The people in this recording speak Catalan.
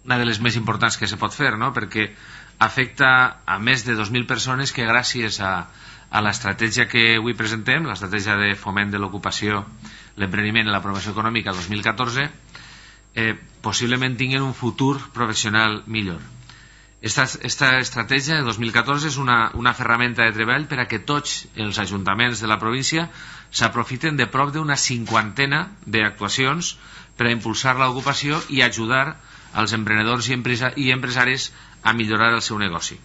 una de les més importants que se pot fer, no? Perquè afecta a més de 2.000 persones que gràcies a l'estratègia que avui presentem, l'estratègia de foment de l'ocupació, l'empreniment i la promoció econòmica 2014, possiblement tinguin un futur professional millor. Esta estratègia de 2014 és una ferramenta de treball per a que tots els ajuntaments de la província s'aprofiten de prop d'una 50ena d'actuacions per a impulsar l'ocupació i ajudar als emprenedors i empresaris a millorar el seu negoci.